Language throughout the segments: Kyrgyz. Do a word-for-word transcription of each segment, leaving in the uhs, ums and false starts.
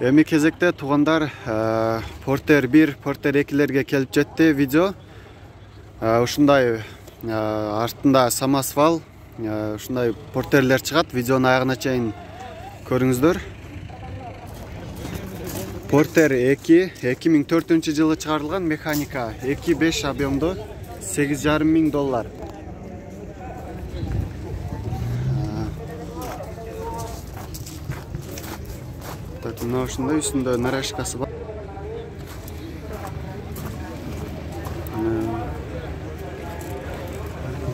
Эми кезекте туугандар Porter бир, Porter экилерге келип жетти видео. Ушундай артында самосвал, ушундай Porter'лер чыгат. Видеону аягына чейин көрүңүздөр. Porter эки эки миң төртүнчү жылы чыгарылган механика, эки беш объемдо, сегиз жарым миң доллар. Так, мына ушундай үстүндө нарашкасы бар.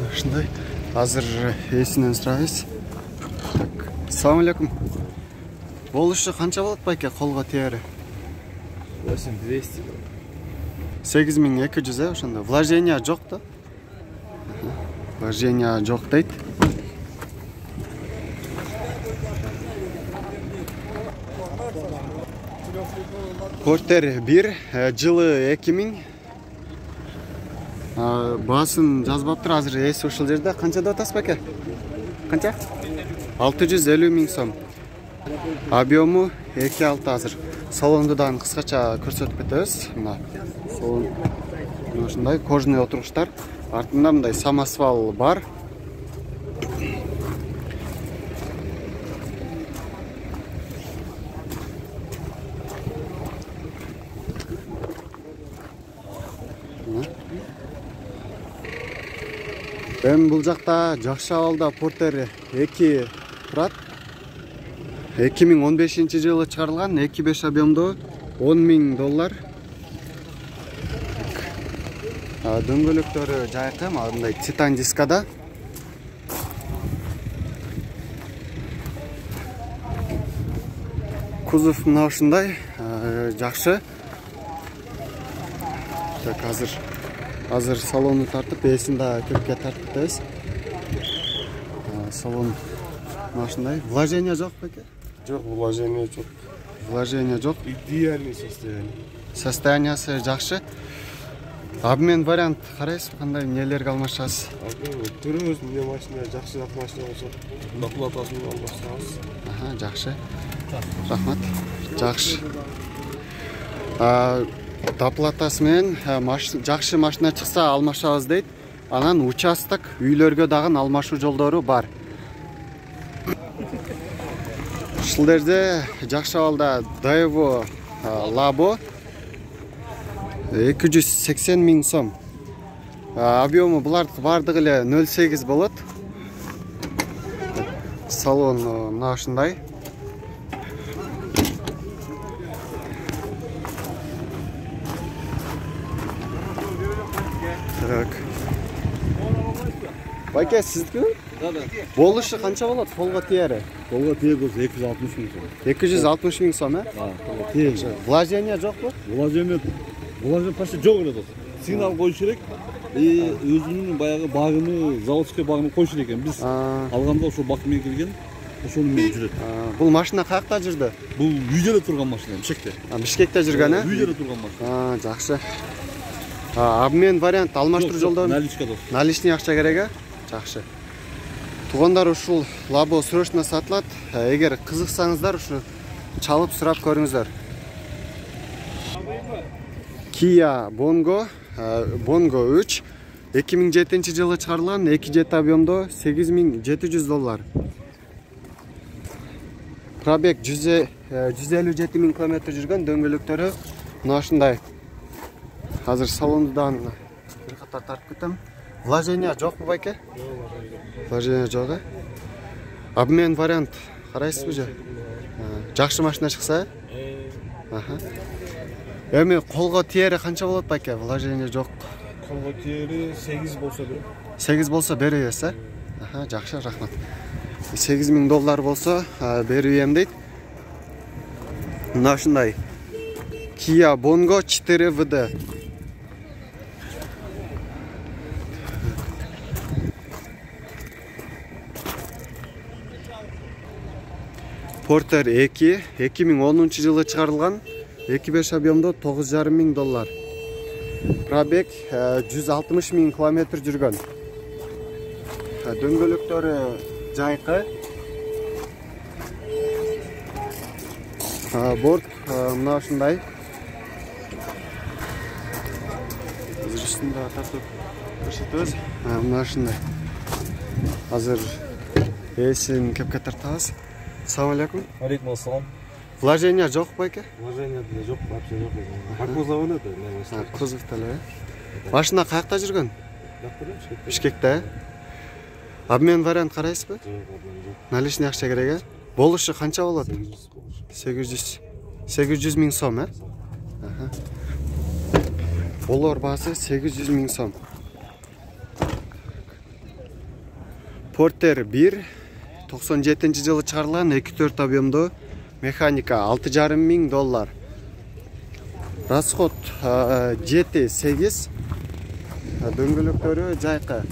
Ушундай. Азыр эсинен сурайбыз. Так, ассаламу алейкум. Болушу канча болот байке колго тиери? восемь двести. сегиз миң эки жүз э, ошондо. Вложение жок да? Вложение жок дейт. Porter бир, жылы эки миң. Баасын жазбаптыр, азыр эси ушул жерде. Канча деп атасыз байке? Канча? алты жүз элүү миң сом. Объему эки алты азыр. Салонду дагы кыскача көрсөтүп кетебиз. Мына салон ушундай кожаный отургучтар. Артында мындай самосвал бар. Эми бул жакта жакшы абалда Porter эки турат. эки миң он бешинчи жылы чыгарылган, эки беш объемдо, он миң доллар. Дөңгөлөктөрү жайкы, мындай титан дискада. Кузов мына ушундай, жакшы. Так, азыр азыр салонду тартып, эсин да кирпке тартып кетебиз. Салон мына ушундай. Вложение жок беке? Жок, вложение жок. Вложение жок. Идеальный состояние. Состояниясы жакшы. Обмен вариант карайсызбы, кандай эмнелерге алмашасыз? Көрөбүз, эмне машина жакшы машина болсо, доплатасын алмашабыз. Аха, жакшы. Рахмат. Жакшы. А доплатасы менен жакшы машина чыкса алмашабыз дейт. Анан участок, үйлөргө дагы алмашуу жолдору бар. Ушул жерде жакшы абалда Daewoo Labo эки жүз сексен миң сом. Объему булардыкы бардыгы эле нөл сегиз болот. Салон мына ушундай. Так. Байке, сиздикиби? Да, да. Болушу канча болот колго тиери? Колго тиер болсо эки жүз алтымыш миң сом. эки жүз алтымыш миң сом, э? Да, колго тиер. Вложение жокпу? Вложение Вложение почти жок эле дос. Сигнал коюш керек. И өзүнүн баягы багыны, заводской багыны коюш керек экен. Биз алганда ошол бак менен келген, ошону менен жүрөт. Бул машина каякта жүрдү? Бул үйдө турган машина, Бишкекте. Бишкекте жүргөн, э? Үйдө турган машина. Жакшы. Обмен вариант алмаштыруу жолдору. Наличка дос. Наличный акча керек, э? Жакшы. Туугандар, ушул Labo срочно сатылат. Эгер кызыксаңыздар, ушу чалып сурап көрүңүздөр. Kia Bongo, Bongo үч, эки миң жетинчи жылы чыгарылган, эки жети объемдо, сегиз миң жети жүз доллар. Пробег жүз элүү жети миң километр жүргөн, дөңгөлөктөрү мына ушундай. Азыр салонду дагы бир катар тартып кетем. Вложение жокпу байке? Вложение жок, э? Обмен вариант карайсызбы же? Жакшы машина чыкса, э? Аха. Эми колго тиери канча болот байке? Вложение жок. Колго тиери сегиз болсо берем. сегиз болсо беребиз, э? Аха, жакшы, рахмат. сегиз миң доллар болсо берем дейт. Мына ушундай. Kia Bongo четыре вэ дэ. Porter эки, эки миң онунчу жылы чыгарылган, эки беш объемдо, тогуз жарым миң доллар. Пробег жүз алтымыш миң километр жүргөн. Дөңгөлөктөрү жайкы. Борт мына ушундай. Азыр үстүндө тартып көрсөтөбүз. Мына ушундай. Азыр эсин кепке тартабыз. Assalamu алейкум. Алейкум ассалам. Вложения жок байке? Вложения жок, вообще жок. По кузову это, наверное. Кузовда эле. Машина каякта жүргөн? Бишкекте. Обмен вариант карайсызбы? Жок, обмен жок. Наличный акча керек, э? Болушу канча болот? сегиз жүз. сегиз жүз миң сом, э? Аха. Болор баасы сегиз жүз миң сом. Porter бир токсон жетинчи жылы чыгарылган эки төрт объемдуу механика алты жарым миң доллар. Расход жети сегиз. Дөңгөлөктөрү жайкы.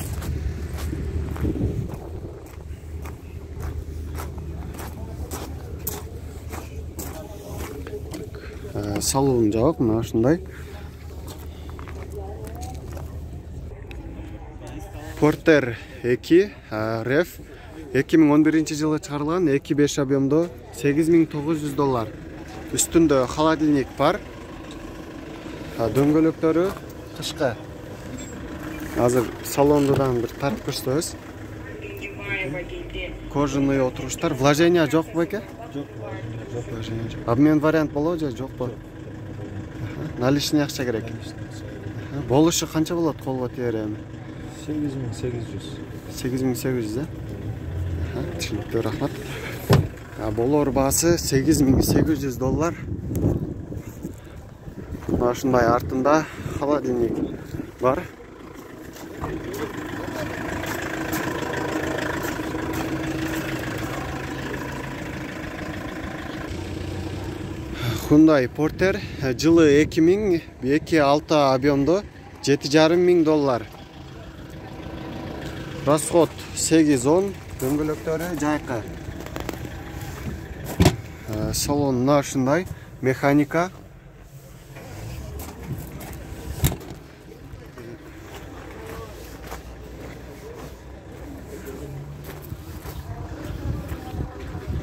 Салон жабык мына ушундай. Porter эки реф эки миң он биринчи жылы чыгарылган эки беш объемдуу сегиз миң тогуз жүз доллар. Үстүндө холодильник бар. Дөңгөлөктөрү кышкы. Азыр салондон бир тартып көрсөтөбүз. Кожаный отуруштар. Вложения жок байке? Жок, вложения жок. Обмен вариант болобу же жокпу? Наличный акча керек. Болушу канча болот колго тиер эми? сегиз миң сегиз жүз. сегиз миң сегиз жүз, э? Түшүнүктүү, рахмат. Болор баасы сегиз миң сегиз жүз доллар. Мына ушундай артында холодильник бар. Hyundai Porter жылы эки миң эки алты объемдуу жети жарым миң доллар. Расход сегиз он, дөңгөлөктөрү жайкы. Салон мына ушундай, механика.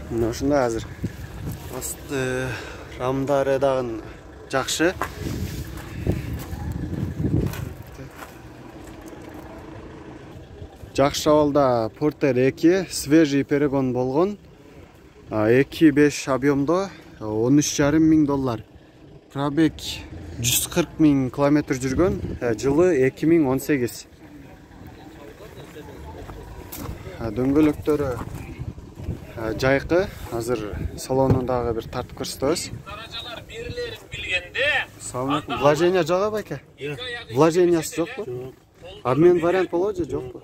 Мына ушундай азыр. Асты рамдары дагы жакшы. Жакшы абалда Porter эки свежий перегон болгон. эки беш объемдо он үч жарым миң доллар. Пробег жүз кырк миң километр жүргөн. Жылы эки миң он сегиз. Дөңгөлөктөрү жайкы. Азыр салонун дагы бир тартып көрсөтөбүз. Даражалар берилерин билгенде. Assalamu алейкум. Вложения жок байке? Вложениясы жокпу? Обмен вариант болобу же жокпу?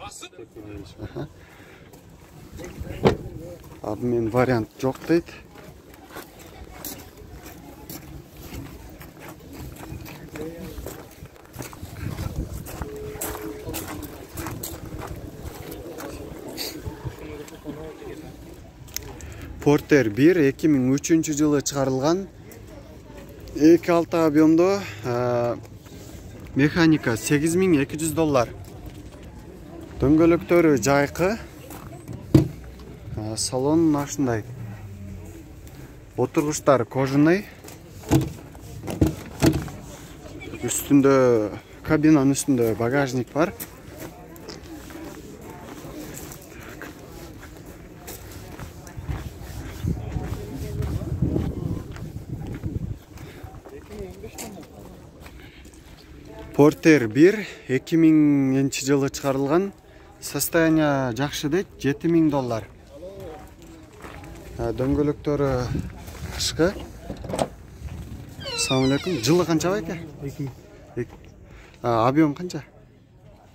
Обмен вариант жок дейт. Porter бир эки миң үчүнчү жылы чыгарылган эки алты объемдуу механика сегиз миң эки жүз доллар. Дөңгөлөктөрү жайкы. Салон ушундай. Отургучтар кожаный. Үстүндө кабинанын үстүндө багажник бар. Porter бир эки миңинчи жылы чыгарылган. Состояние жакшы дейт, жети миң доллар. Дөңгөлөктөрү кышкы. Assalamu алейкум. Жылы канча байке? эки миң. Объем канча?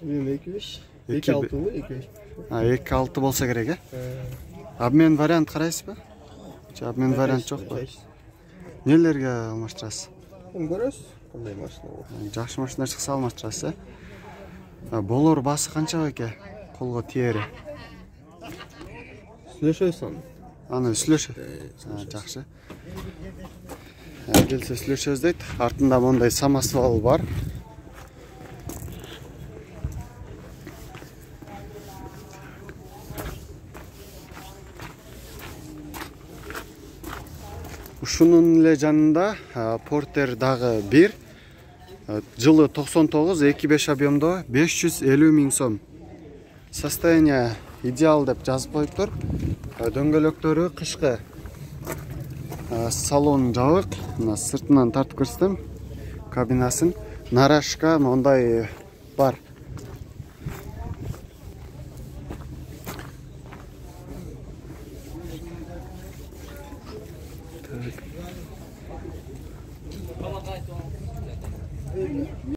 Объем эки беш. эки алтыбы, эки беш. эки алты болсо керек, э? Обмен вариант карайсызбы? Же обмен вариант жокпу? Нелерге алмаштырасыз? Көрөсүз, кандай машина болот. Жакшы машина чыкса алмаштырасыз, э? Болор баасы канча байке? Колго тиери. Сүйлөшөбүз аны. Аны сүйлөшөбүз. Жакшы. Келсе сүйлөшөбүз дейт. Артында мондай самосвал бар. ушунун эле жанында Портер дагы бир. Жылы токсон тогуз, эки беш объемдо беш жүз элүү миң сом. Состояние идеал деп жазып коюптур. Дөңгөлөктөрү кышкы. Салон жабык. Мына сыртынан тартып көрсөтөм. Кабинасын. Нарашка мондай бар.